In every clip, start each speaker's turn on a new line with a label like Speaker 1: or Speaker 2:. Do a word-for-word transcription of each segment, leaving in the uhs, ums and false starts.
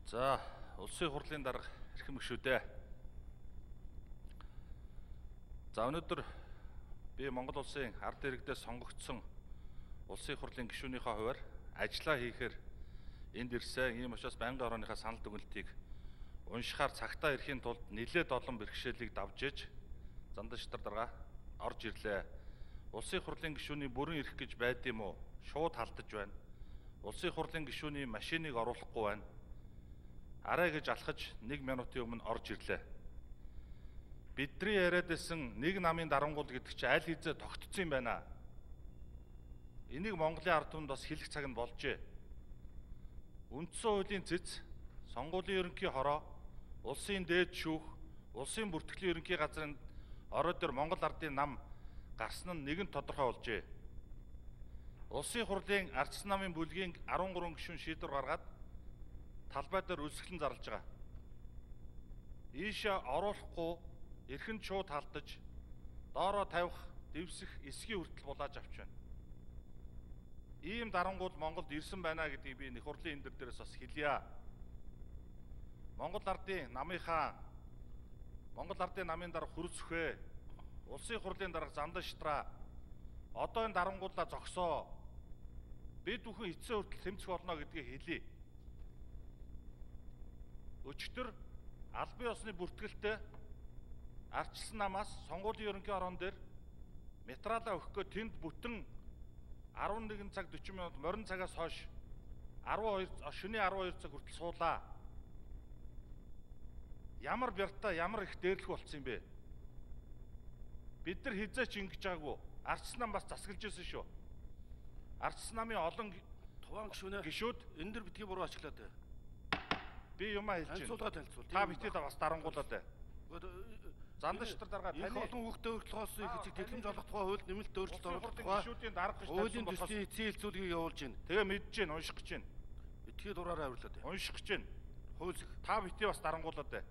Speaker 1: За, улсын хурлын дарга эрхэм гишүүдээ. За, өнөөдөр би Монгол улсын ард иргэдээс сонгогдсон улсын хурлын гишүүнийхээ хувьар ажиллаа хийхээр энд ирсэн. Ийм учраас байнгын орооныхаа санал дүгнэлтийг уншихаар цагтаа ирэхийн тулд нэлээд олон бэрхшээлийг давж иж Занданшидар дарга орж ирлээ. Улсын хурлын гишүүний бүрэн ирэх гэж байд юм уу? Шууд халдаж байна. Улсын хурлын гишүүний машиныг оруулахгүй байна. Арай гэж алхаж нэг минутын өмнө орж ирлээ. Бидний яриад байсан нэг намын дарангуул гэдэг чинь аль хэзээ тогтцсон юм байна. Энийг Монголын ард түмэнд бас хэлэх цаг нь болжээ. Үндсэн хуулийн цэц, сонгуулийн ерөнхий хороо, улсын дээд шүүх, улсын бүртгэлийн ерөнхий газрын орой дээр Монгол ардын нам гарсан нь нэгэн тодорхой болжээ. Улсын хурлын ардчсан намын бүлгийн арван гурван гишүүн шийдвэр гаргаад талбай дээр үлсгэлэн зарлаж байгаа. Ийшээ оруулахгүй эрхэнд шууд халдаж доороо тавих, дэвсэх, эсгийн хүртэл булааж авч байна. Ийм дарангуул Монголд ирсэн байна гэдгийг би нэх хурлын энэ дээрээс бас хэлье. Монгол ардын намынхаа Монгол ардын намын дарга Хүрцөхөө, улсын хурлын дарга Занданшидраа одоо энэ дарангууллаа зогсоо. Бид бүхэн эцсийн хүртэл тэмцэх болно гэдгийг хэлье. Өчигдөр албан ёсны бүртгэлтэй ардчилсан намаас сонгуулийн ерөнхий ороон дээр материалаа өгөхгүй тэнд бүтэн арван нэгэн цаг дөрвөн минут морин цагаас хойш арван хоёр шөнийн арван хоёр цаг хүртэл суулаа. Ямар бяртаа ямар их дээрлэх болцсон юм бэ? Бид нар хизээч ингэж байгаагүй. Ардчилсан нам бас засаглаж ирсэн шүү. Ардчилсан намын олон
Speaker 2: туван гишүүнээ
Speaker 1: гишүүд
Speaker 2: энэ дэр битгий буруу ашиглаад байна.
Speaker 1: Би юм хэлж байна.
Speaker 2: Танилцуулга танилцуул.
Speaker 1: Та битээ бас дарангуулаад байна. Занданшидар дарга
Speaker 2: таны их олон хүүхдээ өртлөхөөс их эцэг тэглэм жолох тухай хууль нэмэлт өөрчлөлт оруулах тухай
Speaker 1: гишүүдийн дарга гэж
Speaker 2: хуулийн төслийн эцсийн хэлцүүлгийг явуулж байна.
Speaker 1: Тэгээ мэдж байна, унших гэж байна.
Speaker 2: Этгээд дураараа авирлаад байна.
Speaker 1: Унших гэж байна.
Speaker 2: Хууль
Speaker 1: Та битээ бас дарангуулаад байна.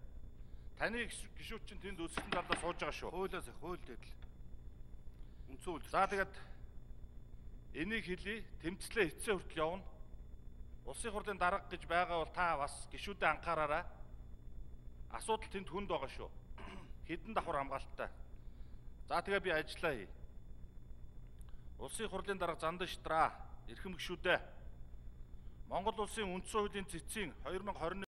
Speaker 1: Таны гишүүд чинь тэнд өсөлтөн талдаа сууж байгаа шүү.
Speaker 2: хуулиас их хууль дэдл. Үндсэн хууль.
Speaker 1: За тэгээд энийг хэлье, тэмцлээ эцсээ хүртэл явна. Улсын хурлын дарга гэж байгаа бол та бас гишүүдэд анхаараарай. Асуудал тэнд хүнд байгаа шүү. Хэдэн давхар хамгаалттай. За тэгээ би ажиллаа хий. Улсын хурлын дарга Занданшидраа эрхэм гишүүдээ Монгол улсын үндсэн хуулийн цэцгийн две thousand twenty